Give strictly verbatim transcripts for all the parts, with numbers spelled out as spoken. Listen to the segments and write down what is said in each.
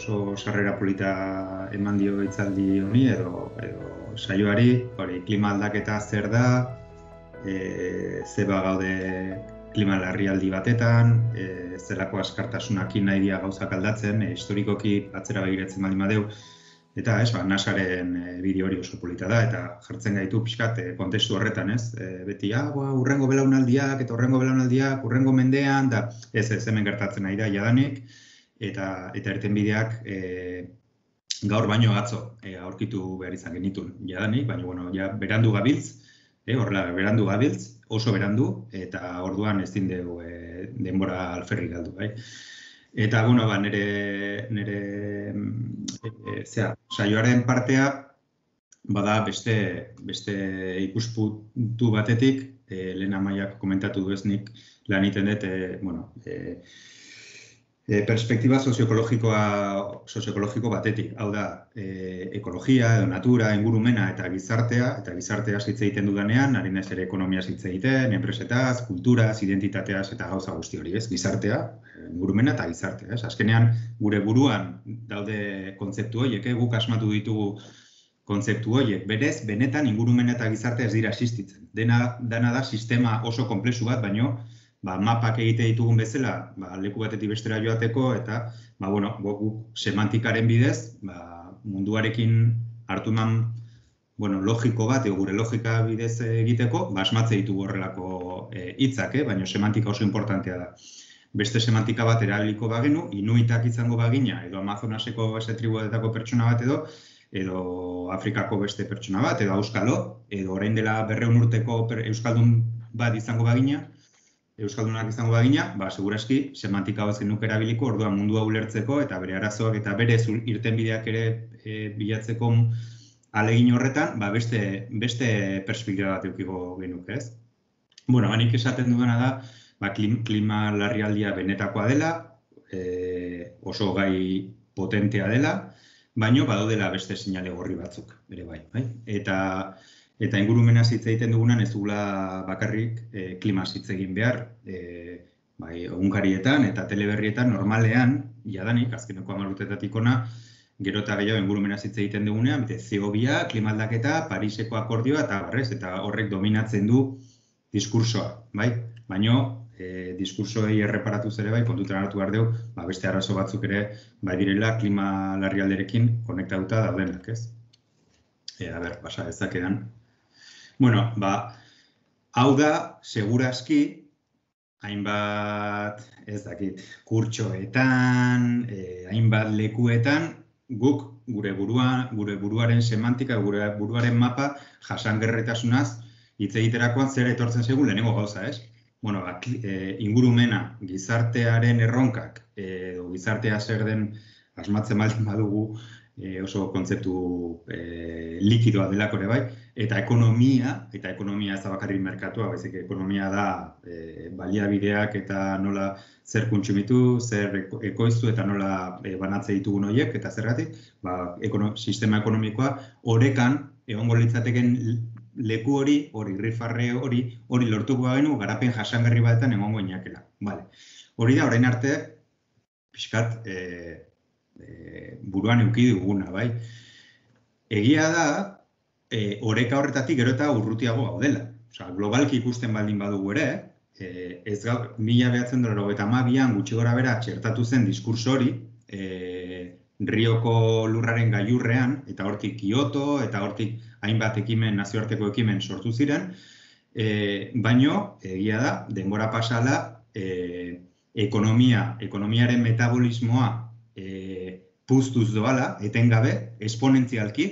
oso sarrera polita eman dio hitzaldi honi edo, edo saioari, hori klima aldaketa zer da, e, zeba gaude klima larrialdi batetan, e, zelako askartasunakin nahi dia gauzak aldatzen, e, historikoki atzera begiratzen baldin badeu, eta ez, ba, nasaren e, bideo hori oso polita da, eta jartzen gaitu pixkat e, kontestu horretan, ez? E, beti, ah, ba, urrengo belaunaldiak, eta urrengo belaunaldiak, urrengo mendean, da, ez, ez hemen gertatzen nahi da jadanik, eta eta irtenbideak e, gaur baino atzo e, aurkitu behar izan genitun jadanik, baina bueno, ja berandu gabiltz, e, horrela berandu gabiltz, oso berandu, eta orduan ez dindegu e, denbora alferrik galdu, bai? Eta, bueno, ba, nire, nire e, zera, saioaren partea, bada beste, beste ikuspuntu batetik, e, lehen amaiak komentatu dueznik lan egiten dut, e, bueno, e, E, perspektiba sozioekologikoa sozioekologiko batetik, hau da, e, ekologia, edo natura, ingurumena eta gizartea, eta gizartea hitz egiten dudanean, ari naiz ere ekonomia hitz egiten, enpresetaz, kulturaz, identitateaz eta gauza guzti hori, ez? Gizartea, ingurumena eta gizartea, ez? Azkenean, gure buruan daude kontzeptu horiek, guk asmatu ditugu kontzeptu horiek, berez, benetan ingurumena eta gizartea ez dira existitzen. Dena, dena da sistema oso konplexu bat, baino, ba, mapak egite ditugun bezala, ba, leku batetik bestera joateko, eta ba, bueno, guk semantikaren bidez, ba, munduarekin hartu eman bueno, logiko bat, gure logika bidez egiteko, ba, asmatze ditugu horrelako hitzak, eh, baina semantika oso importantea da. Beste semantika bat erabiliko bagenu, inuitak izango bagina, edo Amazonaseko beste tribuetako pertsona bat edo, edo Afrikako beste pertsona bat, edo auskalo, edo orain dela berrehun urteko euskaldun bat izango bagina, Euskaldunak izango bagina, ba, segurazki, semantika bat zenuk erabiliko, orduan mundua ulertzeko, eta bere arazoak eta bere irtenbideak ere e, bilatzeko ahalegin horretan, ba, beste, beste perspektiba bat eukiko genuke, ez? Bueno, hanik esaten dudana da, ba, klim, klima larrialdia benetakoa dela, e, oso gai potentea dela, baino badaudela beste seinale gorri batzuk, ere bai, bai? Eta Eta ingurumena hitz egiten dugunan ez dugula bakarrik e, klimaz hitz egin behar, e, bai, egunkarietan eta teleberrietan normalean, jadanik, azkeneko hamar urtetatik hona, gero eta gehiago ingurumenaz hitz egiten dugunean, bete, C O bi a, klima aldaketa, Pariseko akordioa eta barrez, eta horrek dominatzen du diskursoa, bai? Baino, e, diskursoei erreparatuz ere bai, kontutan hartu behar dugu, ba, beste arazo batzuk ere, bai direla klima larrialderekin konektatuta daudenak, ez? E, a ber, pasa ezakedan. Bueno, ba, hau da, segurazki, hainbat, ez dakit, kurtsoetan, eh, hainbat lekuetan, guk gure buruan, gure buruaren semantika, gure buruaren mapa jasangarritasunaz hitz egiterakoan zer etortzen zaigun lehenengo gauza, ez? Bueno, ba, e, ingurumena, gizartearen erronkak, edo gizartea zer den asmatzen baldin badugu, E, oso kontzeptu e, likidoa delako ere bai, eta ekonomia, eta ekonomia ez da bakarrik merkatua, baizik ekonomia da e, baliabideak eta nola zer kontsumitu, zer ekoiztu eta nola e, banatze ditugun horiek, eta zergatik, ba, ekono, sistema ekonomikoa orekan egongo litzateken leku hori, hori rifarre hori, hori lortuko bagenu garapen jasangarri batetan egongo inakela. Vale. Hori da, orain arte, pixkat, e, E, buruan eduki duguna, bai. Egia da, e, oreka horretatik gero eta urrutiago gaudela. Osea, globalki ikusten baldin badugu ere, e, ez gau, mila behatzen dut eta hamabian gutxi gora bera txertatu zen diskurso hori, e, Rioko lurraren gailurrean, eta hortik Kyoto, eta hortik hainbat ekimen, nazioarteko ekimen sortu ziren, e, baino, egia da, denbora pasala, e, ekonomia, ekonomiaren metabolismoa e, puztuz doala, etengabe, esponentzialki,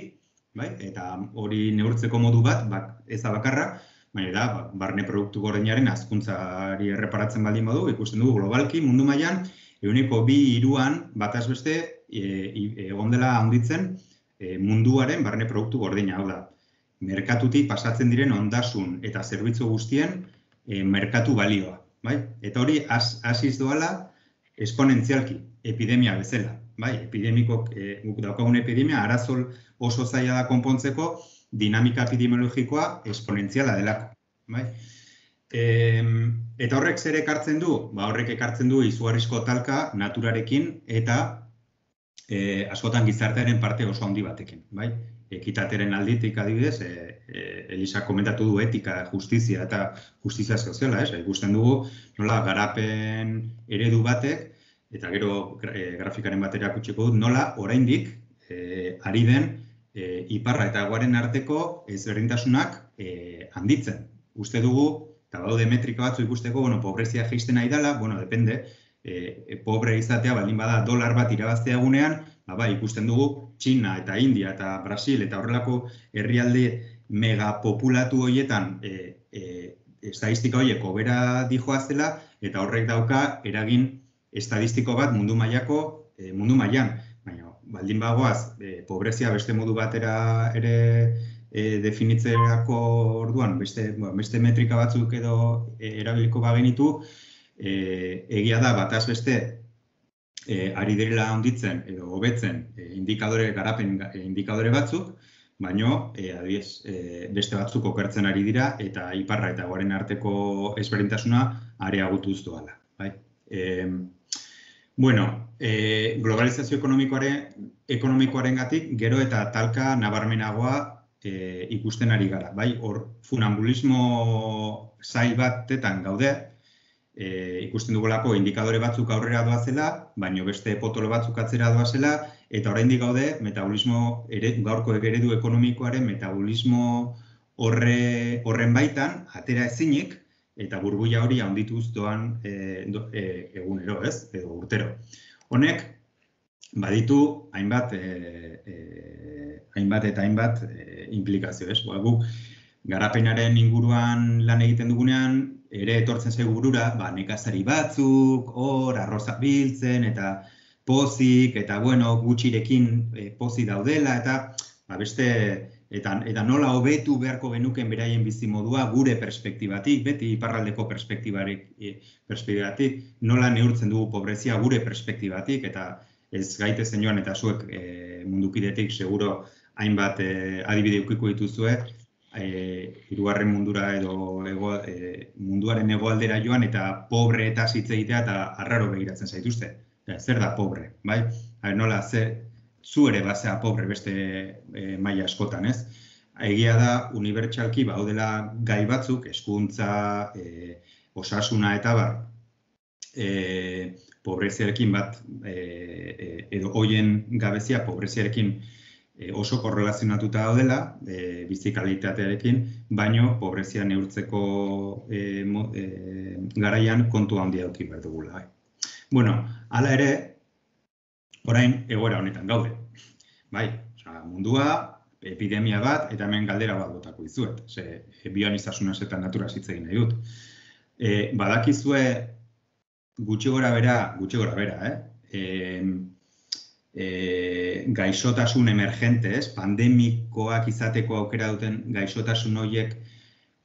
bai? Eta hori neurtzeko modu bat, bak, ez da bakarra, baina da, ba, barne produktu gordinaren hazkuntzari erreparatzen baldin badu, ikusten dugu globalki, mundu mailan, ehuneko bi hiruan bataz beste egon dela handitzen e, munduaren barne produktu gordina, hau da. Merkatutik pasatzen diren ondasun eta zerbitzu guztien e, merkatu balioa, bai? Eta hori hasiz doala esponentzialki, epidemia bezala. Bai, epidemikok, e, guk daukagun epidemia, arazol oso zaila da konpontzeko, dinamika epidemiologikoa esponentziala delako. Bai? E, eta horrek zer ekartzen du? Ba, horrek ekartzen du izugarrizko talka naturarekin eta e, askotan gizartearen parte oso handi batekin, bai? Ekitateren alditik adibidez, e, e, Elisa komentatu du etika, justizia eta justizia soziala, ez? Ikusten dugu nola garapen eredu batek, eta gero e, grafikaren batera kutsiko dut, nola oraindik e, ari den e, iparra eta hegoaren arteko ezberdintasunak e, handitzen. Uste dugu, eta badaude metrika batzu ikusteko, bueno, pobrezia jaisten nahi dela, bueno, depende, e, pobre izatea baldin bada dolar bat irabaztea egunean, ba, bai, ikusten dugu Txina eta India eta Brasil eta horrelako herrialde megapopulatu horietan e, e, estadistika horiek hobera dijoazela eta horrek dauka eragin estadistiko bat mundu mailako e, mundu mailan. Baina, baldin bagoaz, e, pobrezia beste modu batera ere e, definitzerako orduan, beste, bueno, beste metrika batzuk edo e, erabiliko bagenitu, e, egia da bataz beste E, ari direla handitzen edo hobetzen e, indikadore garapen e, indikadore batzuk, baino e, adibidez e, beste batzuk okertzen ari dira eta iparra eta hegoaren arteko ezberdintasuna areagotuz doala, bai? E, bueno, e, globalizazio ekonomikoaren ekonomikoarengatik gero eta talka nabarmenagoa e, ikusten ari gara, bai? Hor funambulismo zail batetan gaude. E, ikusten dugulako indikadore batzuk aurrera doazela, baino beste potolo batzuk atzera doazela, eta oraindik gaude metabolismo ere, gaurko eredu ekonomikoaren metabolismo horre, horren baitan atera ezinik eta burbuila hori handituz doan e, do, e, egunero, ez? Edo urtero. Honek baditu hainbat e, e, hainbat eta hainbat e, implikazio, ez? Ba, guk garapenaren inguruan lan egiten dugunean ere etortzen zaigu burura, ba, nekazari batzuk, hor, arroza biltzen, eta pozik, eta bueno, gutxirekin e, pozik daudela, eta ba, beste, eta, eta nola hobetu beharko genuken beraien bizimodua gure perspektibatik, beti iparraldeko perspektibarik, e, perspektibatik, nola neurtzen dugu pobrezia gure perspektibatik, eta ez gaitezen joan, eta zuek e, mundukidetik seguro hainbat e, adibide ukiko dituzue, E, hirugarren mundura edo ego, e, munduaren hegoaldera joan eta pobre eta hitz egitea eta arraro begiratzen zaituzte. Ja, zer da pobre, bai? Haber, nola, ze, zu ere bazea pobre beste e, maila askotan, ez? Egia da, unibertsalki baudela gai batzuk, hezkuntza, e, osasuna eta bar, e, pobreziarekin bat, e, e, edo hoien gabezia pobreziarekin E, oso korrelazionatuta daudela, e, bizi kalitatearekin, baino pobrezia neurtzeko e, mo, e, garaian kontu handia eduki behar dugula. Bueno, hala ere, orain egoera honetan gaude. Bai, oza, mundua, epidemia bat, eta hemen galdera bat botako dizuet. Ze, bioanistasunaz eta naturaz hitz egin nahi dut. E, badakizue gutxi gora bera, gutxi gora bera, eh? E, E, gaixotasun emergentes, pandemikoak izateko aukera duten gaixotasun horiek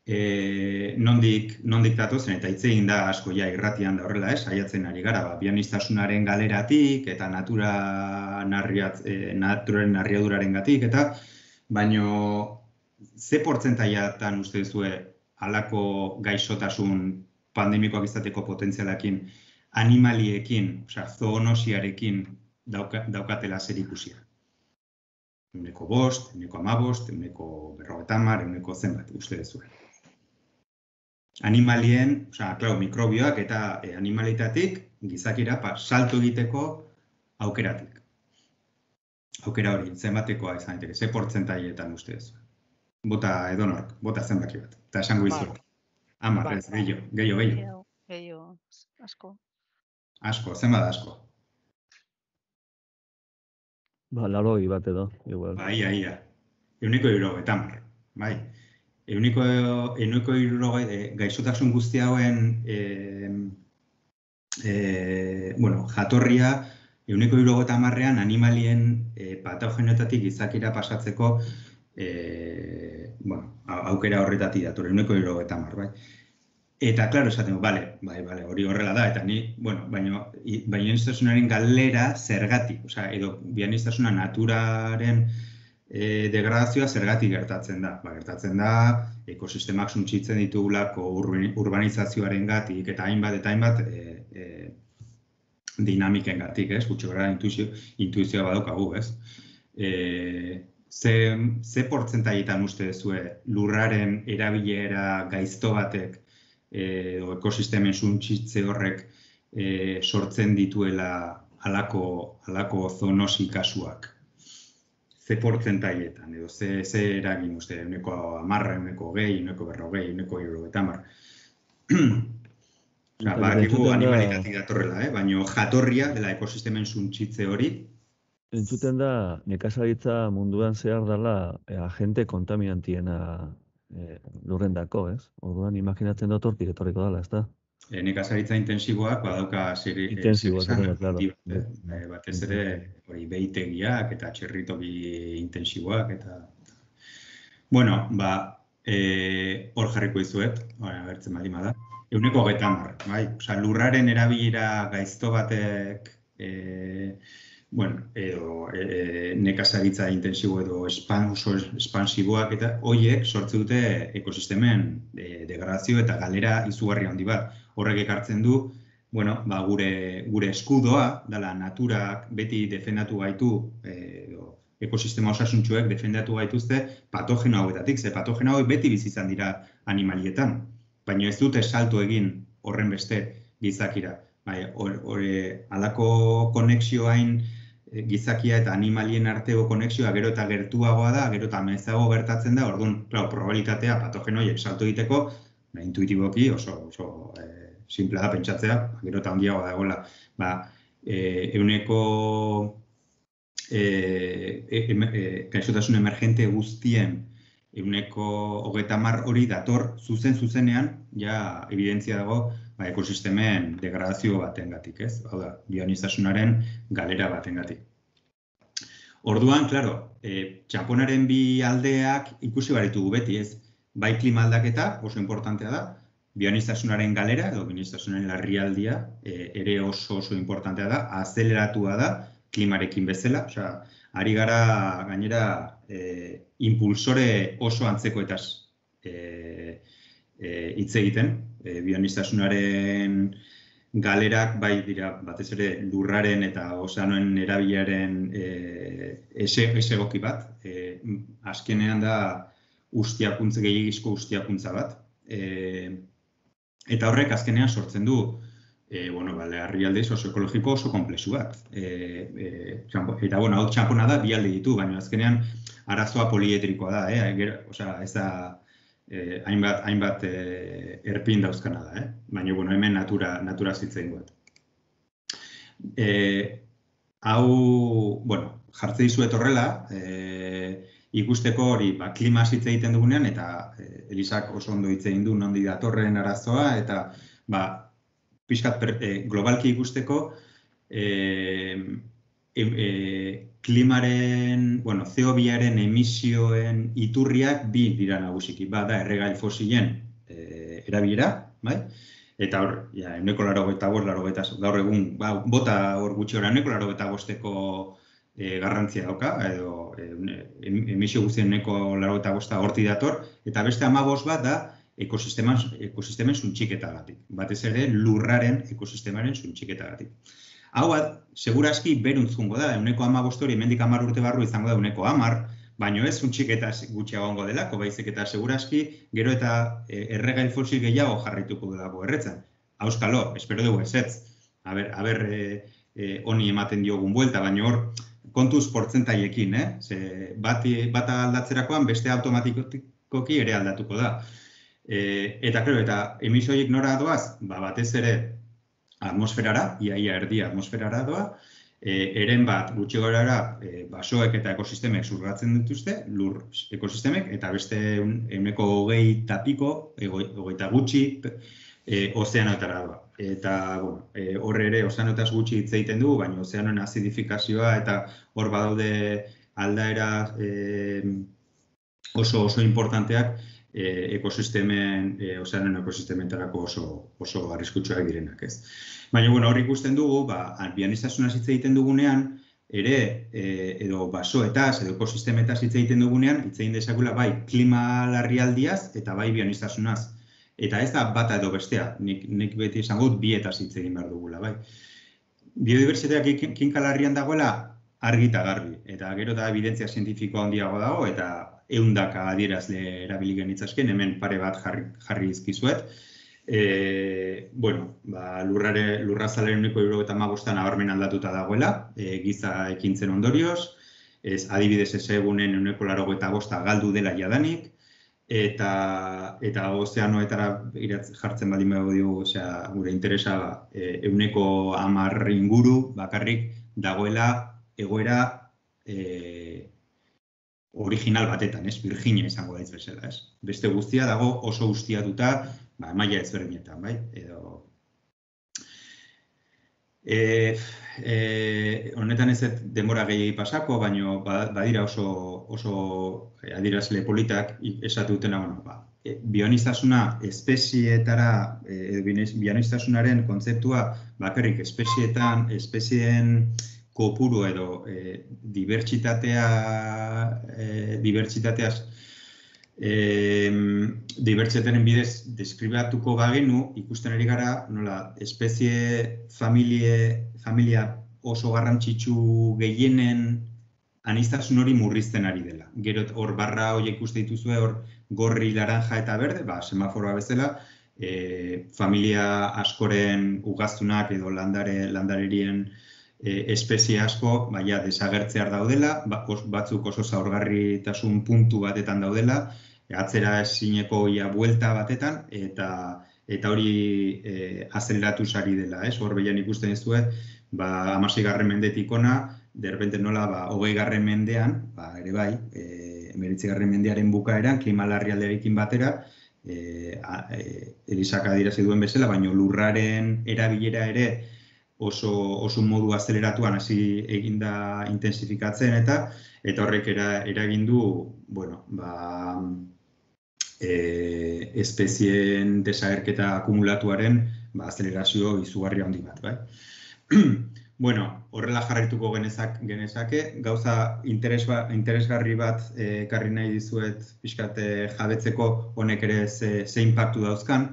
e, nondik, nondik datozen, eta hitz egin da asko ja irratian da horrela, ez, saiatzen ari gara, ba, bionistasunaren galeratik eta natura narriat, e, naturaren narriaduraren gatik, eta baino ze portzentaiatan uste duzue halako gaixotasun pandemikoak izateko potentzialakin animaliekin, osea, zoonosiarekin Dauka, daukatela zer ikusia. Euneko bost, euneko amabost, euneko berrogeita hamar, euneko zenbat, uste dezue. Animalien, osea, klar, mikrobioak eta e, animalitatik gizakira pa, salto egiteko aukeratik. Aukera hori, zenbatekoa izan daiteke, ze portzentaietan uste dezue. Bota edonork, bota zenbaki bat. Eta esango izuet. Hamar, ez, gehiago, gehiago, gehiago. Gehiago, asko. Asko, zenbat asko. Ba, laroi bat edo, igual. Bai, bai, bai. Euneko hirurogeita hamar, bai. Euneko, euneko hirurogeita, e, gaixotasun guzti hauen, e, e, bueno, jatorria, euneko hirurogeita hamarrean animalien e, patogenoetatik gizakira pasatzeko, e, bueno, aukera horretatik dator, euneko hirurogeita hamar, bai. Eta, klaro, esaten, bale, bai, bale, hori horrela da, eta ni, bueno, baina bionistasunaren galera zergatik, osea, edo bionistasuna naturaren e, degradazioa zergatik gertatzen da. Ba, gertatzen da, ekosistemak suntsitzen ditugulako urbanizazioaren gatik, eta hainbat, eta hainbat e, e, dinamikengatik, ez? Gutxi gara intuizio, intuizioa badaukagu, ez? E, ze, ze portzentaietan uste duzue lurraren erabilera gaizto batek edo ekosistemen suntsitze horrek e, sortzen dituela halako halako zoonosi kasuak? Ze portzentaietan edo ze, ze eragin uste, ehuneko hamarra, ehuneko hogei, ehuneko berrogei, ehuneko hirurogeita hamar. Badakigu animalitatik datorrela, eh? Baina jatorria dela ekosistemen suntsitze hori. Entzuten da, nekazaritza munduan zehar dela e, agente kontaminantiena e, lurrendako, ez? Orduan imaginatzen dut hortik etorriko dela, ez da? E, nekazaritza intensiboak badauka zer Intensiboak, esan, claro. eh? E, batez ere hori behitegiak eta txerritoki intensiboak eta... Bueno, ba, e, hor jarriko izuet, agertzen baldin bada. Ehuneko hogeita hamar, bai? Osea, lurraren erabilera gaizto batek e, bueno, edo e, nekazaritza intensibo edo espan, oso espansiboak eta horiek sortze dute ekosistemen e, degradazio eta galera izugarri handi bat. Horrek ekartzen du, bueno, ba, gure, gure eskudoa, dela naturak beti defendatu gaitu, e, edo, ekosistema osasuntsuek defendatu gaituzte patogeno hauetatik, ze patogeno hauek beti bizi izan dira animalietan, baina ez dute salto egin horren beste gizakira. Bai, halako konexioain gizakia eta animalien arteko konexioa gero eta gertuagoa da, gero eta mezago gertatzen da, orduan, claro, probabilitatea patogeno horiek salto egiteko, ba, intuitiboki oso, oso e, simplea da pentsatzea, gero eta handiagoa dagoela. Ba, e, euneko e, e, e, gaixotasun emergente guztien euneko hogeita hamar hori dator zuzen zuzenean, ja evidentzia dago, ba, ekosistemen degradazio batengatik, ez? Hau da, bioanistasunaren galera batengatik. Orduan, claro, e, txanponaren bi aldeak ikusi baritugu beti, ez? Bai klima aldaketa, oso importantea da, bioanistasunaren galera, edo bioanistasunaren larrialdia, e, ere oso oso importantea da, azeleratua da, klimarekin bezala, osea, ari gara gainera e, impulsore oso antzekoetaz e, e, hitz egiten, e, bioanistasunaren galerak bai dira batez ere lurraren eta ozeanoen erabileraren e, esegoki bat. E, azkenean da ustiakuntza, gehiagizko ustiakuntza bat. E, eta horrek azkenean sortzen du e, bueno, ba, larrialde sozioekologiko oso komplexu bat. E, e, txampo, eta bueno, hau txampona da bi alde ditu, baina azkenean arazoa poliedrikoa da, eh? Gero, osea, ez da Eh, hainbat, hainbat eh, erpin dauzkana da, eh? Baina, bueno, hemen natura, natura zitzen guet. Eh, hau, bueno, jartze dizuet horrela, eh, ikusteko hori, ba, klima hitz egiten dugunean, eta eh, Elisak oso ondo hitz egin du nondi datorren arazoa, eta, ba, pixkat per, eh, globalki ikusteko, eh, E, e, klimaren, bueno, C O biaren emisioen iturriak bi dira nagusiki. Bada erregai fosilen e, erabilera, bai? Eta hor, ja, ehuneko laurogeita bost, laurogeita gaur egun, ba, bota hor gutxi ora ehuneko laurogeita bosteko e, garrantzia dauka, edo e, emisio guztien ehuneko laurogeita bosta horti dator, eta beste hamabost bat da ekosistemen, ekosistemen suntxiketagatik. Batez ere lurraren ekosistemaren suntxiketagatik. Hau, segurazki beruntz jungo da, ehuneko hamabost hori hemendik hamar urte barru izango da ehuneko hamar, baina ez suntxiketa gutxiago egongo delako, baizik eta segurazki gero eta erregai fosil gehiago jarrituko delako erretzen. Auskalo, espero dugu ezetz, aber, aber e, e, honi ematen diogun buelta, baina hor kontuz portzentaiekin, eh? Ze bat, bata aldatzerakoan beste automatikoki ere aldatuko da. E, eta, klaro, eta emisioiek nora doaz, ba, batez ere atmosferara, iaia erdia atmosferara doa, e, eren bat gutxi gorara e, basoek eta ekosistemek zurgatzen dituzte, lur ekosistemek, eta beste ehuneko hogei tapiko, hogeita gutxi, e, ozeanoetara doa. Eta, bueno, e, horre ere ozeanoetaz gutxi hitz egiten dugu, baina ozeanoen azidifikazioa eta hor badaude aldaera e, oso oso importanteak, E, ekosistemen, e, ozeanen ekosistementarako oso, oso arriskutsuak direnak, ez. Baina, bueno, hor ikusten dugu, ba, bioanistasunaz hitz egiten dugunean, ere, e, edo basoetaz, edo ekosistemetaz hitz egiten dugunean, hitz egin dezakula bai klima larrialdiaz eta bai bioanistasunaz. Eta ez da bata edo bestea, nik, nik beti esango dut bietaz hitz egin behar dugula, bai. biodibertsitateak kinkalarrian dagoela argi eta garbi. Eta gero da evidentzia zientifikoa handiago dago, eta ehundaka adierazle erabili genitzazken, hemen pare bat jarri, jarri izkizuet. E, bueno, ba, lurrare, lurrazalaren uneko hirurogeita hamabostan nabarmen aldatuta dagoela, e, giza ekintzen ondorioz, ez adibidez ez egunen uneko laurogeita bosta galdu dela jadanik, eta eta ozeanoetara jartzen baldin badugu diogu, osea, gure interesa e, euneko hamar inguru bakarrik dagoela egoera e, original batetan, ez? Virginia izango daitz bezala, ez? Beste guztia dago oso ustiatuta, ba, maila ezberdinetan, bai? Edo E, e, honetan ez denbora gehiagi pasako, baina badira oso, oso adierazle politak esatu dutena, bueno, ba, e, bioaniztasuna espezieetara, e, bioanistasunaren kontzeptua bakarrik espezieetan, espezieen kopuru edo e, dibertsitatea, e, dibertsitateaz E, dibertsitatearen bidez deskribatuko bagenu, ikusten ari gara, nola, espezie, familie, familia oso garrantzitsu gehienen aniztasun hori murrizten ari dela. Gero hor barra horiek ikuste dituzue, hor gorri, laranja eta berde, ba, semaforoa bezala, e, familia askoren ugaztunak edo landare, landarerien e, espezie asko, baina desagertzear daudela, batzuk oso zaurgarritasun puntu batetan daudela, atzera ezineko ia buelta batetan, eta eta hori e, azeleratu sari dela, ez? Hor behian ikusten ez duet, ba, hamaseigarren mendetik ona, derbente nola, ba, hogeigarren mendean, ba, ere bai, e, hemeretzigarren mendearen bukaeran, klima larrialdiarekin batera, e, e, Elisak adierazi duen bezala, baina lurraren erabilera ere oso, oso modu azeleratuan hasi eginda intensifikatzen, eta eta horrek era, eragin du, bueno, ba, E, espezien desagerketa akumulatuaren ba, azelerazio izugarri handi bat. Bai? Bueno, horrela jarraituko genezak, genezake, gauza interes ba, interesgarri bat ekarri nahi dizuet pixkat jabetzeko honek ere ze, ze impactu dauzkan.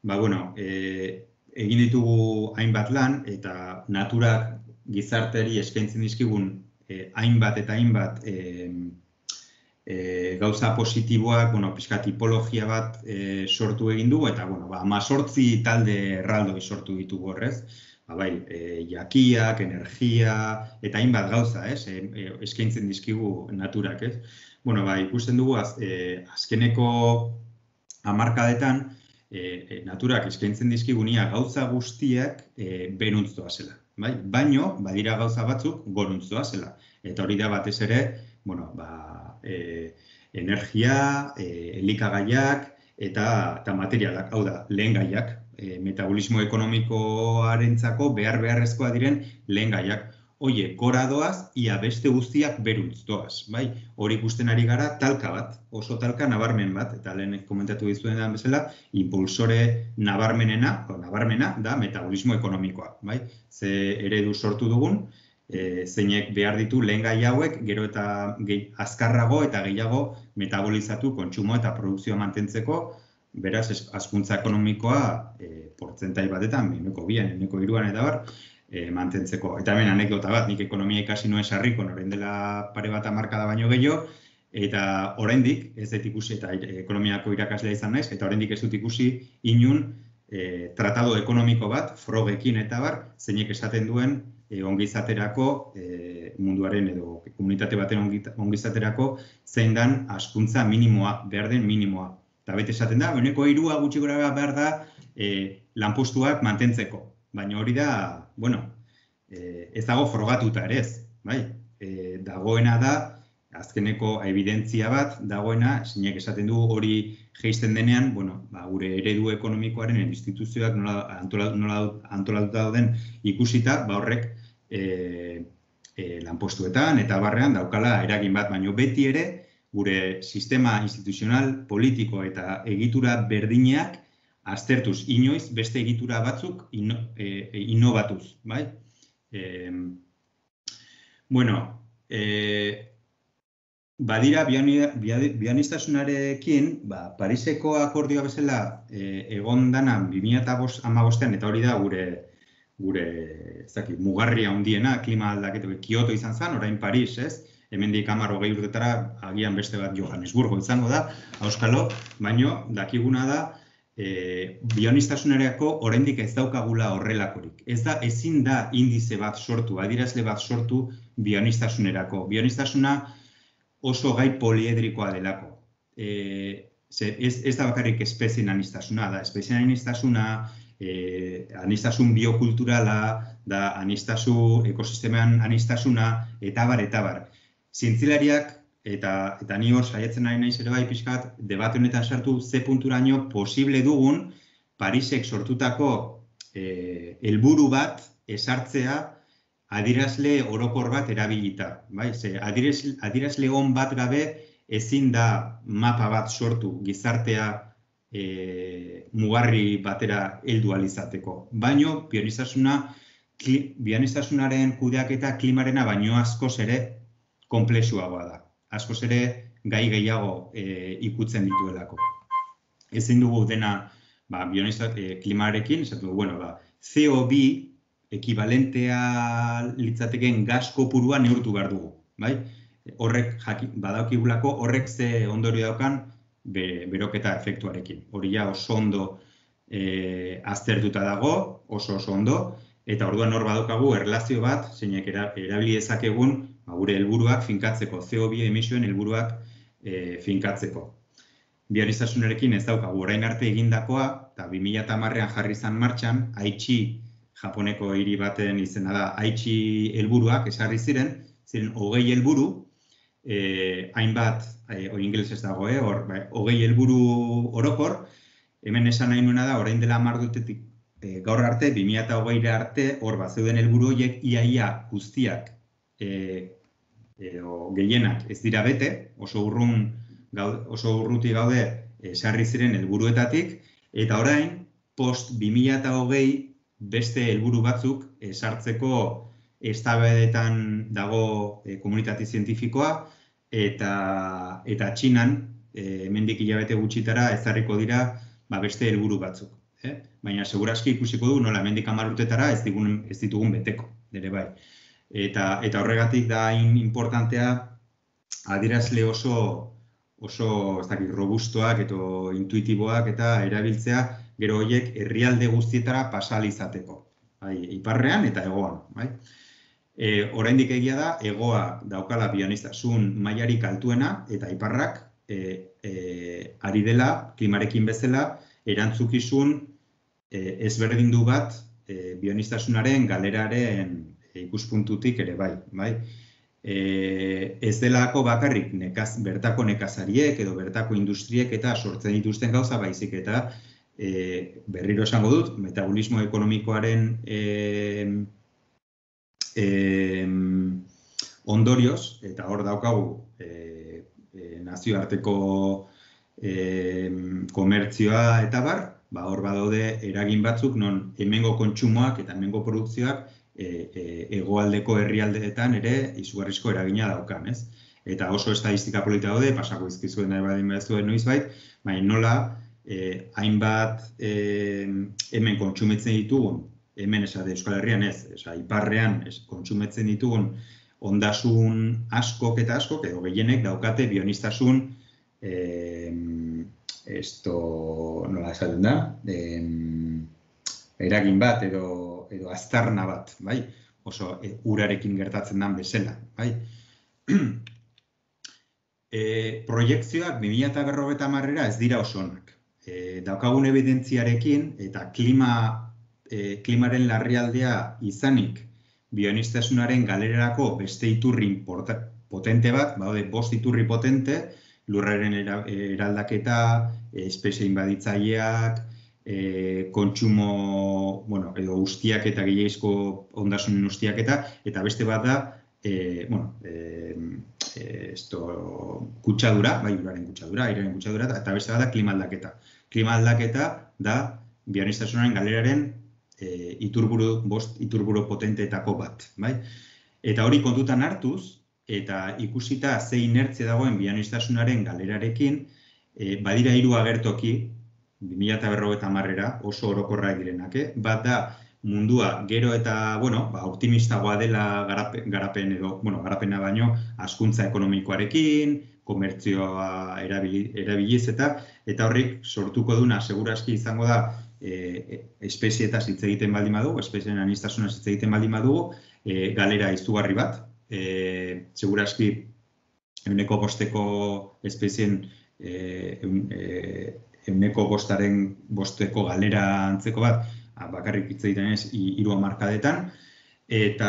Ba, bueno, e, egin ditugu hainbat lan eta naturak gizarteari eskaintzen dizkigun e, hainbat eta hainbat e, E, gauza positiboak, bueno, pixka tipologia bat e, sortu egin dugu, eta, bueno, ba, amazortzi talde erraldoi sortu ditugu horrez. Ba, bai, e, jakiak, energia, eta hainbat gauza, ez, e, e, eskaintzen dizkigu naturak, ez. Bueno, ba, ikusten dugu, az, e, azkeneko hamarkadetan, e, e, naturak eskaintzen dizkigunia gauza guztiak e, beruntz doazela. Bai? Baino, badira gauza batzuk goruntz doazela. Eta hori da batez ere, bueno, ba, E, energia, e, elikagaiak eta, eta materialak, hau da, lehen gaiak, e, metabolismo ekonomikoarentzako behar beharrezkoa diren lehen gaiak. Oie, gora doaz, ia beste guztiak beruntz doaz, bai? Hori ikusten ari gara talka bat, oso talka nabarmen bat, eta lehen komentatu dizuen da bezala, impulsore nabarmenena, o, nabarmena da metabolismo ekonomikoa, bai? Ze eredu sortu dugun, E, zeinek behar ditu lehen gai hauek, gero eta gehi, azkarrago eta gehiago metabolizatu kontsumo eta produkzioa mantentzeko, beraz, hazkuntza ekonomikoa e, portzentai batetan, eneko bian, eneko hiruan eta bar, e, mantentzeko. Eta hemen anekdota bat, nik ekonomia ikasi nuen sarriko, orain dela pare bat hamarkada baino gehiago, eta oraindik, ez dut ikusi, eta ekonomiako irakaslea izan naiz, eta oraindik ez dut ikusi inun e, tratado ekonomiko bat, frogekin eta bar, zeinek esaten duen, E, ongizaterako, e, munduaren edo komunitate baten ongizaterako, zein dan hazkuntza minimoa, behar den minimoa. Eta bete esaten da, beneko hirua gutxi gora behar da e, lanpostuak mantentzeko. Baina hori da, bueno, e, ez dago frogatuta ere ez. Bai? E, dagoena da, azkeneko evidentzia bat, dagoena, zeinek esaten du hori geisten denean, bueno, ba, gure eredu ekonomikoaren instituzioak nola, antolatu, nola antolatuta dauden ikusita, ba horrek e, e, lanpostuetan eta barrean daukala eragin bat, baino beti ere gure sistema instituzional, politiko eta egitura berdineak aztertuz inoiz beste egitura batzuk ino, e, e, inobatuz, bai? E, bueno, e, badira bioaniztasunarekin, ba, Pariseko akordioa bezala e, egon dana bi mila hamabostean, eta hori da gure gure, ez dakit, mugarria handiena klima aldaketa, Kyoto izan zen, orain Paris, ez? Hemendik hamar hogei urtetara agian beste bat Johannesburgo izango da, auskalo, baino dakiguna da e, bionistasunerako oraindik ez daukagula horrelakorik. Ez da, ezin da indize bat sortu, adierazle bat sortu bionistasunerako. Bionistasuna oso gai poliedrikoa delako. E, ze, ez, ez da bakarrik espezien anistasuna, da espezien anistasuna, e, anistasun biokulturala, da anistasu ekosisteman anistasuna, eta bar, eta bar. Zientzilariak, eta, eta ni hor saiatzen ari naiz ere bai pixkat, debate honetan sartu ze punturaino posible dugun Parisek sortutako eh, helburu bat esartzea adierazle orokor bat erabilita. Bai? Ze adierazle, adierazle on bat gabe ezin da mapa bat sortu gizartea eh, mugarri batera heldu ahal izateko. Baino, bioniztasuna, bionistasunaren kudeaketa klimarena baino askoz ere konplexuagoa da. Askoz ere gai gehiago e, ikutzen dituelako. Ezin dugu dena ba, bionistak e, klimarekin, esatu dugu, bueno, ba, C O bi ekibalentea litzateken gas kopurua neurtu behar dugu. Bai? Horrek badaukigulako, horrek ze ondorio daukan be, beroketa efektuarekin. Hori ja oso ondo e, aztertuta dago, oso oso ondo, eta orduan hor badaukagu erlazio bat, zeinek erabili dezakegun ba, gure helburuak finkatzeko, C O bi emisioen helburuak e, finkatzeko. Bionistasunarekin ez daukagu orain arte egindakoa, eta bi mila hamarrean jarri izan martxan, Aichi, Japoneko hiri baten izena da, Aichi helburuak esarri ziren, ziren hogei helburu, e, hainbat, e, hori ingelesez dago, eh, hor, ba, hogei helburu orokor, hemen esan nahi nuena da, orain dela hamar urtetik e, gaur arte, bi mila hogeira arte, hor bat zeuden helburu horiek iaia guztiak e, e, o, gehienak ez dira bete, oso urrun gaude, oso urruti gaude esarri ziren helburuetatik, eta orain, post bi mila hogei beste helburu batzuk sartzeko eztabaidetan dago e, komunitate zientifikoa, eta, eta Txinan, e, hemendik hilabete gutxitara ezarriko dira ba, beste helburu batzuk. Eh? Baina segurazki ikusiko du nola hemendik hamar urtetara ez, digun, ez ditugun beteko, ere bai. Eta, eta horregatik da hain importantea adierazle oso, oso ez dakit, robustoak eta intuitiboak eta erabiltzea gero horiek herrialde guztietara pasal izateko. Bai, iparrean eta hegoan. Bai? E, oraindik egia da, hegoa daukala bionistasun mailarik altuena eta iparrak e, e, ari dela, klimarekin bezala, erantzukizun e, ezberdindu bat e, bionistasunaren galeraren ikuspuntutik ere bai. bai? E, ez delako bakarrik nekaz, bertako nekazariek edo bertako industriek eta sortzen dituzten gauza baizik eta e, berriro esango dut, metabolismo ekonomikoaren e, e, ondorioz, eta hor daukagu e, e, nazioarteko e, komertzioa eta bar, ba, hor badaude eragin batzuk non hemengo kontsumoak eta hemengo produkzioak E, e, hegoaldeko herrialdeetan ere izugarrizko eragina daukan, ez? Eta oso estatistika polita daude, pasako izkizuen nahi badin behazuen noizbait, baina nola e, hainbat e, hemen kontsumetzen ditugun, hemen esate Euskal Herrian ez, esa, iparrean ez, kontsumetzen ditugun ondasun askok eta askok, edo gehienek daukate bionistasun e, esto, nola esaten da, e, eragin bat edo edo aztarna bat, bai? Oso e, urarekin gertatzen den bezala, bai? e, proiektzioak bi mila berrogeita hamarera ez dira oso onak. E, daukagun evidentziarekin eta klima, e, klimaren larrialdea izanik bionistasunaren galerarako beste iturri potente bat, baude bost iturri potente, lurraren era, eraldaketa, espezie inbaditzaileak, E, kontsumo, bueno, edo ustiak eta gehiagizko ondasunen ustiak eta, eta beste bat da, e, bueno, e, e, esto, kutsadura, bai, uraren kutsadura, airearen kutsadura, eta beste bat da klima aldaketa. Klima aldaketa da bionistasunaren galeraren e, iturburu, bost iturburu potenteetako bat, bai? Eta hori kontutan hartuz, eta ikusita ze inertzia dagoen bionistasunaren galerarekin, e, badira hiru agertoki, bi mila berrogeita hamarera oso orokorrak direnak, eh? Bat da mundua gero eta, bueno, ba, optimistagoa dela garapen, garapen edo, bueno, garapena baino, hazkuntza ekonomikoarekin, komertzioa erabili, erabiliz eta, eta horrik sortuko duna segurazki izango da e, espezietaz hitz egiten baldin badugu, espezien aniztasunaz hitz egiten baldin badugu, e, galera izugarri bat, e, segurazki euneko bosteko espezien e, eun, e, euneko bostaren bosteko galera antzeko bat, bakarrik hitz egiten ez, hiru hamarkadetan, eta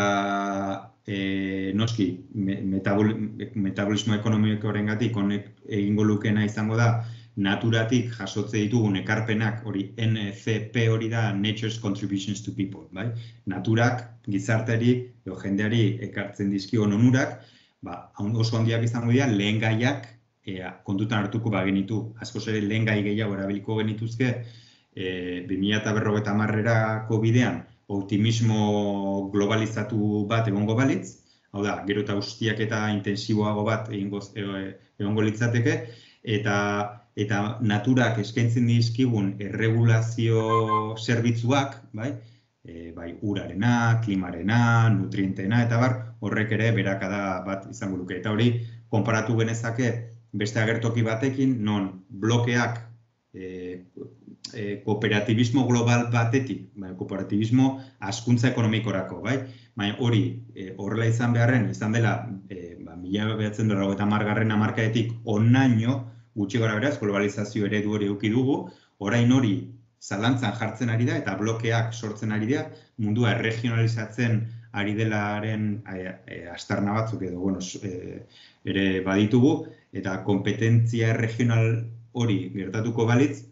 e, noski, metabol, metabolismo ekonomikoarengatik honek egingo lukena izango da, naturatik jasotze ditugun ekarpenak, hori N C P hori da Nature's Contributions to People, bai? Naturak, gizarteari, edo jendeari ekartzen dizkion onurak, ba, oso handiak izango dira, lehen gaiak ea, kontutan hartuko bagenitu, askoz ere lehen gai gehiago erabiliko genituzke, e, bi mila berrogeita hamarrerako bidean optimismo globalizatu bat egongo balitz, hau da, gero eta ustiak eta intensiboago bat egingo, egongo litzateke, eta, eta naturak eskaintzen dizkigun erregulazio zerbitzuak, bai, e, bai urarena, klimarena, nutrientena, eta bar, horrek ere berakada bat izango luke. Eta hori, konparatu genezake beste agertoki batekin, non blokeak e, e, kooperatibismo global batetik, bai, kooperatibismo hazkuntza ekonomikorako, bai? Baina hori e, horrela izan beharren, izan dela e, ba, mila bederatziehun eta laurogeita hamargarren hamarkadetik onaino, gutxi gara beraz, globalizazio eredu hori eduki dugu, orain hori zalantzan jartzen ari da eta blokeak sortzen ari da, mundua erregionalizatzen ari delaren e, e, astarna batzuk edo, bueno, e, ere baditugu, eta kompetentzia regional hori gertatuko balitz,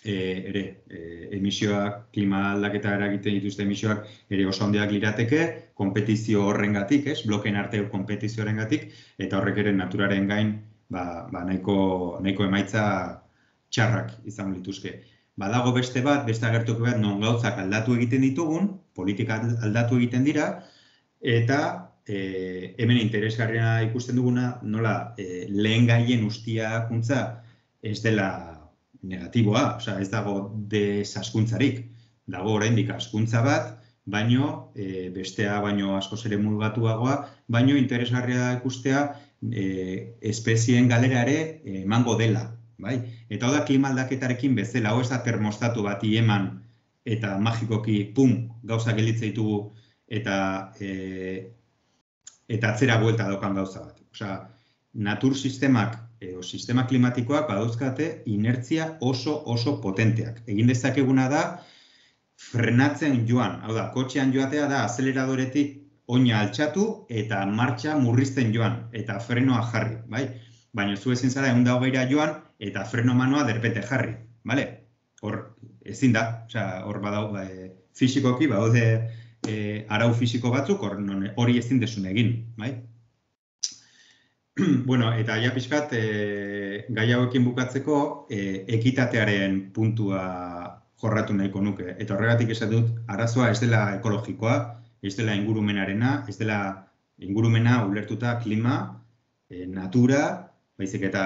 e, ere, e, emisioak, klima aldaketa eragiten dituzte emisioak ere oso handiak lirateke, kompetizio horrengatik, ez, blokeen arteko kompetizio horrengatik, eta horrek ere naturaren gain ba, ba nahiko, nahiko emaitza txarrak izan lituzke. Badago beste bat, beste agertoki bat, non gauzak aldatu egiten ditugun, politika aldatu egiten dira, eta e, hemen interesgarriena ikusten duguna, nola e, lehen gaien ustiakuntza ez dela negatiboa, osea, ez dago desazkuntzarik. Dago oraindik hazkuntza bat, baino e, bestea baino askoz ere mulgatuagoa, baino interesgarria ikustea e, espezien galera ere emango dela. Bai? Eta hau da klima aldaketarekin bezala, hau ez da termostatu bati eman eta magikoki, pum, gauza gelitze ditugu eta, e, eta atzera buelta daukan gauza bat. Osea, natur sistemak, e, o sistema klimatikoak badauzkate inertzia oso oso potenteak. Egin dezakeguna da frenatzen joan, hau da, kotxean joatea da azeleradoretik oina altxatu eta martxa murrizten joan eta frenoa jarri, bai? Baina zu ezin zara ehun eta hogeira joan eta freno manoa derpete jarri, bale? Hor, ezin da, osea, hor badau, ba, e, fisikoki, badaude e, arau fisiko batzuk, hor hori ezin desun egin, bai? Bueno, eta ja pixkat, e, gai hauekin bukatzeko, e, ekitatearen puntua jorratu nahiko nuke. Eta horregatik esan dut, arazoa ez dela ekologikoa, ez dela ingurumenarena, ez dela ingurumena ulertuta klima, e, natura, baizik eta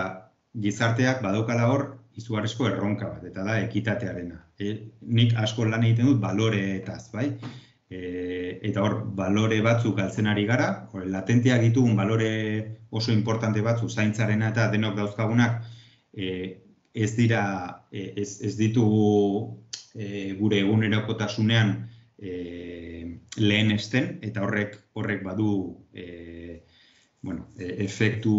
gizarteak badaukala hor izugarrizko erronka bat, eta da ekitatearena. E, nik asko lan egiten dut baloreetaz, bai? E, eta hor, balore batzuk galtzen ari gara, hor, latenteak ditugun balore oso importante batzuk, zaintzarena eta denok dauzkagunak, e, ez dira, e, ez, ez ditugu e, gure egunerokotasunean e, lehenesten, eta horrek, horrek badu e, bueno, efektu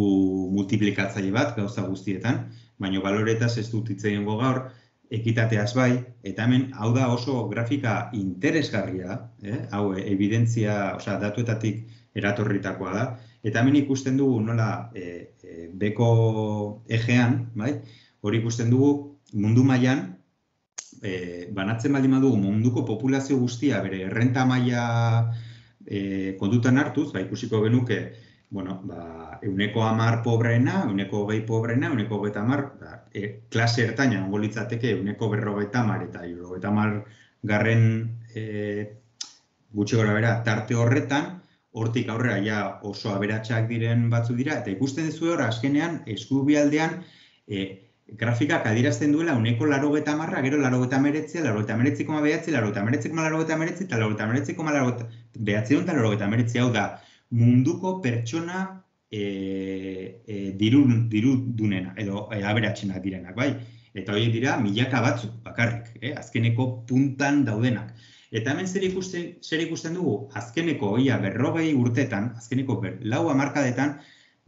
multiplikatzaile bat gauza guztietan, baina baloretaz ez dut hitz egingo gaur, ekitateaz bai, eta hemen hau da oso grafika interesgarria, eh? Hau evidentzia, osea, datuetatik eratorritakoa da, eta hemen ikusten dugu nola e, e, beko ejean, bai? Hori ikusten dugu mundu mailan e, banatzen baldin badugu munduko populazio guztia bere errenta maila e, kontutan hartuz, ba, ikusiko genuke bueno, ba, euneko hamar pobreena, euneko hogei pobreena, euneko hogeita hamar, ba, e, klase ertaina ongo litzateke euneko berrogeita hamar eta hirurogeita hamar garren e, gutxi gora bera tarte horretan, hortik aurrera ja oso aberatsak diren batzu dira, eta ikusten duzu hor azkenean eskubialdean e, grafikak adierazten duela uneko laurogeita hamarra, gero laurogeita hemeretzi, laurogeita hemeretzi koma bederatzi, laurogeita hemeretzi koma laurogeita hemeretzi, eta laurogeita hemeretzi koma bederatziehun eta laurogeita hemeretzi. Hau da, munduko pertsona e, e, diru, dirudunena, edo e, aberatsenak direnak, bai? Eta horiek dira milaka batzuk bakarrik, eh? Azkeneko puntan daudenak. Eta hemen zer ikusten, zer ikusten dugu, azkeneko ia berrogei urtetan, azkeneko ber, lau hamarkadetan,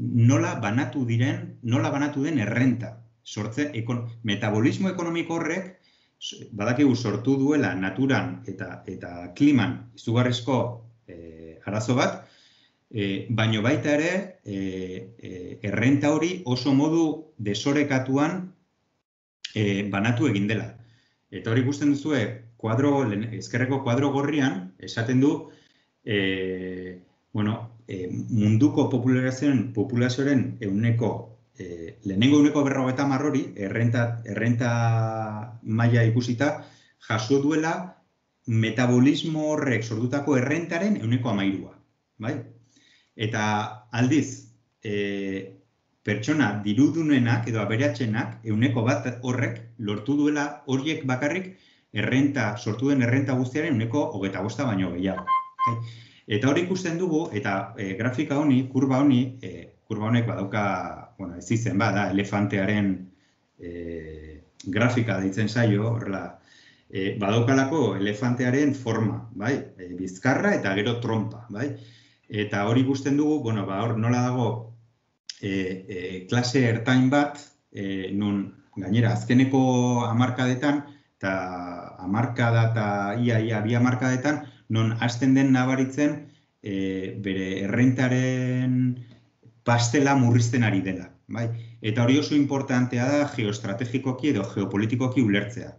nola banatu diren, nola banatu den errenta. Sortzen, ekon, metabolismo ekonomiko horrek, badakigu sortu duela naturan eta, eta kliman izugarrizko e, arazo bat, e, baino baita ere, e, e, errenta hori oso modu desorekatuan e, banatu egin dela. Eta hori ikusten duzue, kuadro, ezkerreko kuadro gorrian, esaten du, e, bueno, e, munduko populazioaren, populazioaren euneko E, lehenengo uneko berrogeita hamar hori, errenta, errenta maila ikusita, jaso duela metabolismo horrek sortutako errentaren euneko hamairua. Bai? Eta aldiz, e, pertsona dirudunenak edo aberatsenak euneko bat horrek lortu duela horiek bakarrik errenta, sortu den errenta guztiaren euneko hogeita bosta baino gehiago. Bai? Eta hori ikusten dugu, eta e, grafika honi, kurba honi, e, kurba honek badauka, bueno, ez izen bada, elefantearen e, grafika deitzen zaio, horrela, e, badaukalako elefantearen forma, bai? E, bizkarra eta gero trompa, bai? Eta hori ikusten dugu, bueno, ba, hor nola dago e, e, klase ertain bat, e, nun gainera azkeneko hamarkadetan, eta hamarkada eta ia, ia, bi hamarkadetan, non hasten den nabaritzen e, bere errentaren pastela murrizten ari dela. Bai? Eta hori oso importantea da geoestrategikoki edo geopolitikoki ulertzea.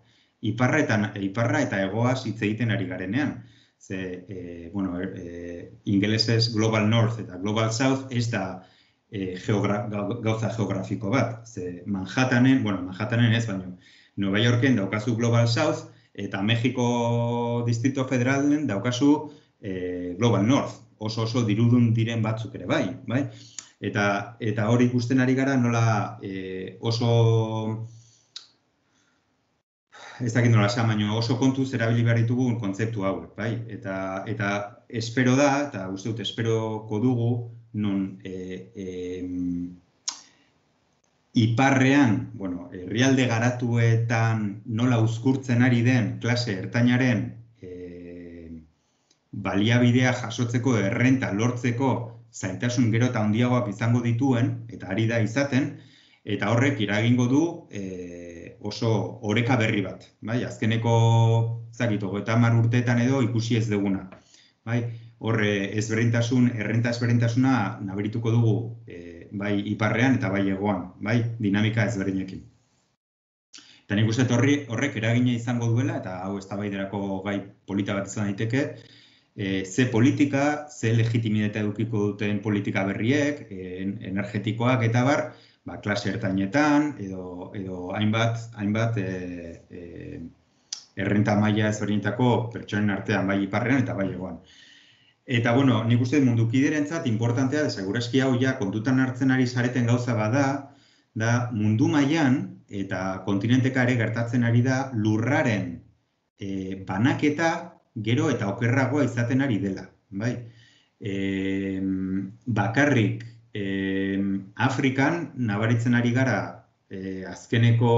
Iparra eta, iparra eta egoaz hitz egiten ari garenean. Ze, e, bueno, e, ingelesez Global North eta Global South ez da e, geogra, gauza geografiko bat. Ze Manhattanen, bueno, Manhattanen ez, baino, Nueva Yorken daukazu Global South eta Mexiko Distrito Federalen daukazu e, Global North. Oso oso dirudun diren batzuk ere bai, bai? Eta, eta hori ikusten ari gara nola e, oso, ez dakit nola esan, baina oso kontuz erabili behar ditugu kontzeptu hauek, bai? Eta, eta espero da, eta uste dut esperoko dugu, non e, e, iparrean, bueno, herrialde garatuetan nola uzkurtzen ari den klase ertainaren e, baliabidea jasotzeko, errenta lortzeko, zailtasun gero eta handiagoak izango dituen, eta ari da izaten, eta horrek iragingo du e, oso oreka berri bat. Bai? Azkeneko, zakit, hogeita hamar urteetan edo ikusi ez duguna. Bai? Horre ezberdintasun, errenta ezberdintasuna nabarituko dugu e, bai iparrean eta bai hegoan, bai dinamika ezberdinekin. Eta nik uste horrek eragina izango duela, eta hau eztabaidarako gai polita bat izan daiteke, E, ze politika, ze legitimitatea edukiko duten politika berriek, e, energetikoak eta bar, ba, klase ertainetan, edo, edo hainbat, hainbat e, e, errenta maila ezberdinetako pertsonen artean, bai iparrean eta bai hegoan. Eta, bueno, nik uste mundukiderentzat importantea, segurazki hau ja kontutan hartzen ari zareten gauza bada, da mundu mailan eta kontinenteka ere gertatzen ari da lurraren e, banaketa gero eta okerragoa izaten ari dela. Bai? E, bakarrik e, Afrikan nabaritzen ari gara e, azkeneko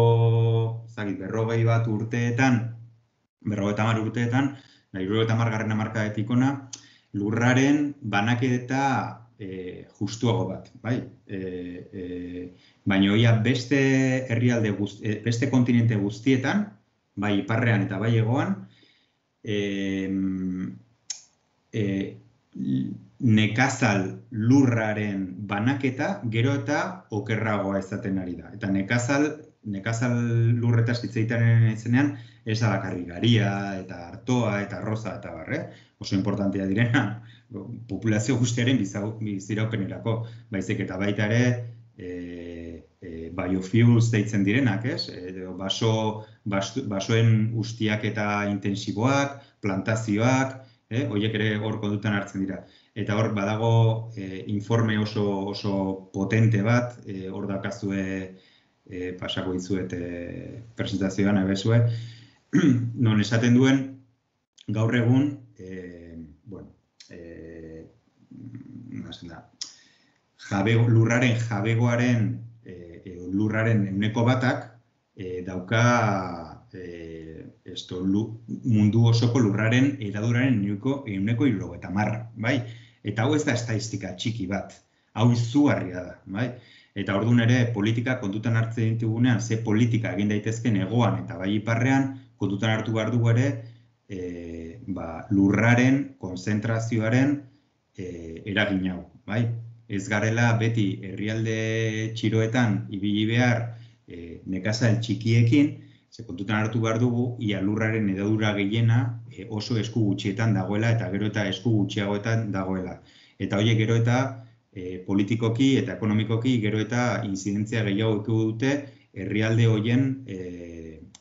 zagit, berrogei bat urteetan, berrogeita hamar urteetan, berrogeita hamargarren hamarkadetik hona, lurraren banaketa e, justuago bat. Bai? E, e, baina oia beste herrialde guzti, beste kontinente guztietan, bai iparrean eta bai hegoan, E, e, nekazal lurraren banaketa gero eta okerragoa izaten ari da. Eta nekazal, nekazal lurretaz hitz egiten izenean ez da bakarrik garia eta artoa eta arroza eta barre. Oso importantea direna populazio guztiaren biziraupenerako. Baizik eta baita ere e, e, biofuels deitzen direnak, ez? Edo baso, baso, basoen ustiak eta intensiboak, plantazioak, eh? Horiek ere hor kontutan hartzen dira. Eta hor badago e, informe oso, oso potente bat, e, hor dakazue e, pasako dizuet e, presentazioan ebezue, non esaten duen gaur egun, e, bueno, e, da, jabego, lurraren jabegoaren, e, lurraren euneko batak e, dauka e, esto, lu, mundu osoko lurraren hedaduraren euneko euneko hirurogeita hamar, bai? Eta hau ez da estatistika txiki bat, hau izugarria da, bai? Eta orduan ere politika kontutan hartzen ditugunean, ze politika egin daitezken hegoan eta bai iparrean, kontutan hartu behar dugu ere, e, ba, lurraren, konzentrazioaren e, eragin hau, bai? Ez garela beti herrialde txiroetan ibili behar e, nekazal txikiekin, ze kontutan hartu behar dugu, ia lurraren hedadura gehiena e, oso esku gutxietan dagoela eta gero eta esku gutxiagoetan dagoela. Eta horiek gero eta e, politikoki eta ekonomikoki gero eta inzidentzia gehiago dute herrialde horien e,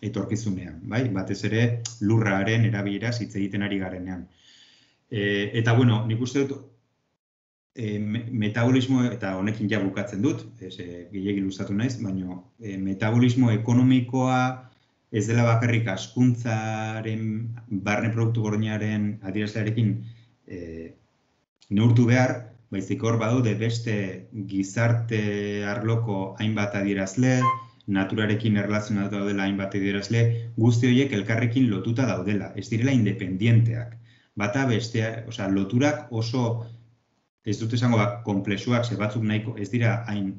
etorkizunean, bai? Batez ere lurraren erabileraz hitz egiten ari garenean. E, eta bueno, nik uste dut e, metabolismo, eta honekin ja bukatzen dut, ez e, gehiegi luzatu naiz, baina e, metabolismo ekonomikoa ez dela bakarrik hazkuntzaren, barne produktu gordinaren adierazlearekin e, neurtu behar, baizik hor badaude beste gizarte arloko hainbat adierazle, naturarekin erlazionatu daudela hainbat adierazle, guzti horiek elkarrekin lotuta daudela, ez direla independienteak. Bata bestea, osea, loturak oso, ez dut esango konplexuak, ze batzuk nahiko, ez dira hain,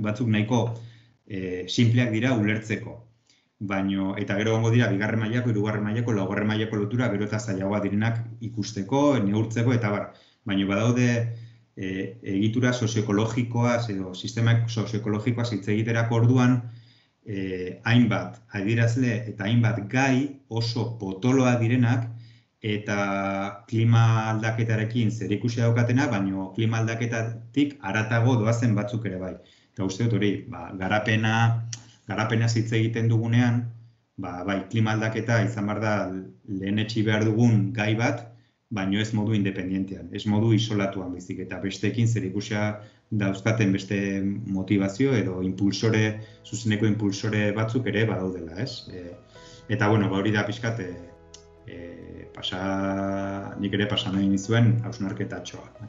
batzuk nahiko e, simpleak dira ulertzeko. Baino, eta gero gongo dira, bigarren mailako, hirugarren mailako, laugarren mailako lotura, gero eta zailagoa direnak ikusteko, neurtzeko, eta bar. Baino, badaude e, egitura sozioekologikoaz edo sistema sozioekologikoaz hitz egiterako orduan, e, hainbat adierazle eta hainbat gai oso potoloa direnak, eta klima aldaketarekin zerikusia daukatenak, baino klima aldaketatik haratago doazen batzuk ere bai. Eta uste dut hori, ba, garapena, Garapenaz hitz egiten dugunean, ba, bai, klima aldaketa izan behar da lehenetsi behar dugun gai bat, baino ez modu independientean, ez modu isolatuan baizik, eta besteekin zerikusia dauzkaten beste motivazio edo impulsore, zuzeneko impulsore batzuk ere badaudela, ez? E, eta, bueno, ba, hori da pixkat, e, e, pasa, nik ere pasa nahi nizuen hausnarketatxoa.